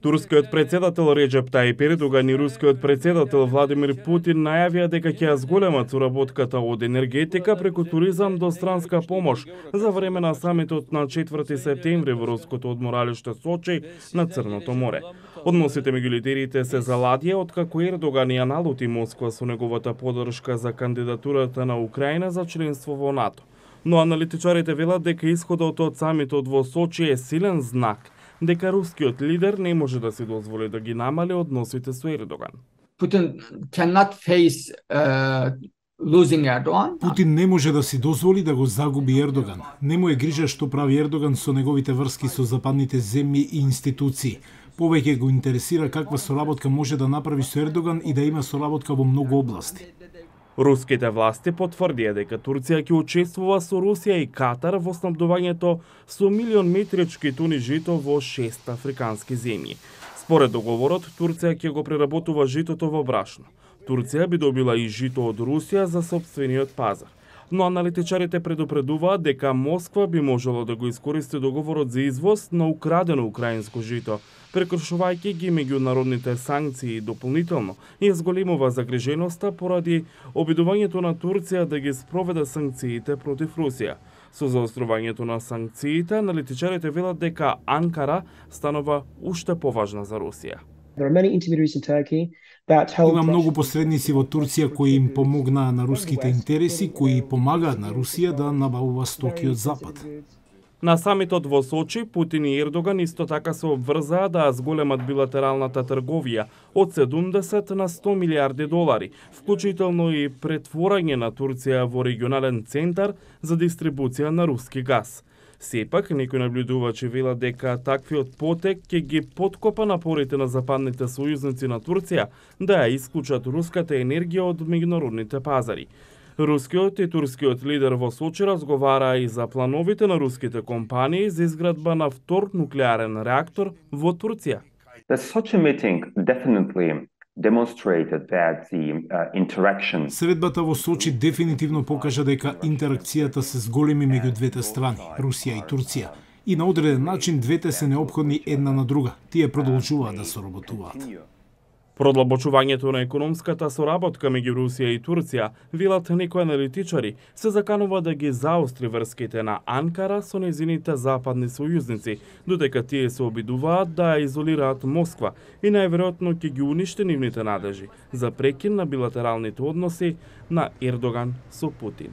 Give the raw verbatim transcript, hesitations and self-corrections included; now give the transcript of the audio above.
Турскиот председател Реджеп Тајип Ердоган и рускиот председател Владимир Путин најавија дека ќе ја зголемат соработката од енергетика преку туризам до странска помош за време на самитот на четврти септември во руското одморалиште Сочи на Црното море. Односите меѓу лидерите се заладија откако Ердоган ја налути Москва со неговата поддршка за кандидатурата на Украина за членство во НАТО. Но аналитичарите велат дека исходот од самитот во Сочи е силен знак дека рускиот лидер не може да си дозволи да ги намали односите со Ердоган. Putin cannot face uh, losing Erdogan. Путин не може да си дозволи да го загуби Ердоган. Не му е грижа што прави Ердоган со неговите врски со западните земји и институции. Повеќе го интересира каква соработка може да направи со Ердоган и да има соработка во многу области. Руските власти потврдија дека Турција ќе учествува со Русија и Катар во снабдувањето со милион метрички тони жито во шест африкански земји. Според договорот, Турција ќе го преработува житото во брашно. Турција би добила и жито од Русија за сопствениот пазар. Но аналитичарите предупредуваат дека Москва би можела да го искористи договорот за извоз на украдено украинско жито, прекршувајќи ги меѓународните санкции дополнително и зголемува загриженоста поради обидувањето на Турција да ги спроведе санкциите против Русија. Со заострувањето на санкциите, аналитичарите велат дека Анкара станува уште поважна за Русија. Има многу посредници во Турција кои им помогнаа на руските интереси, кои помагаат на Русија да набавува стоки од Запад. На самитот во Сочи, Путин и Ердоган исто така се обврзаа да зголемат билатералната трговија од седумдесет на сто милиарди долари, вклучително и претворање на Турција во регионален центар за дистрибуција на руски газ. Сепак, некои наблюдувачи велат дека таквиот потек ќе ги подкопа напорите на западните сојузници на Турција да ја исклучат руската енергија од меѓународните пазари. Рускиот и турскиот лидер во Сочи разговараа и за плановите на руските компании за изградба на втор нуклеарен реактор во Турција. The Sochi meeting definitely demonstrated that the uh, interaction. Средбата во Сочи дефинитивно покажа дека интеракцијата се зголеми меѓу двете страни, Русија и Турција, и на одреден начин двете се неопходни една на друга. Тие продолжуваат да соработуваат. Продлабочувањето на економската соработка меѓу Русија и Турција, велат некои аналитичари, се заканува да ги заостри врските на Анкара со нејзините западни сојузници, додека тие се обидуваат да ја изолираат Москва и најверојатно ќе ги уништи нивните надежи за прекин на билатералните односи на Ердоган со Путин.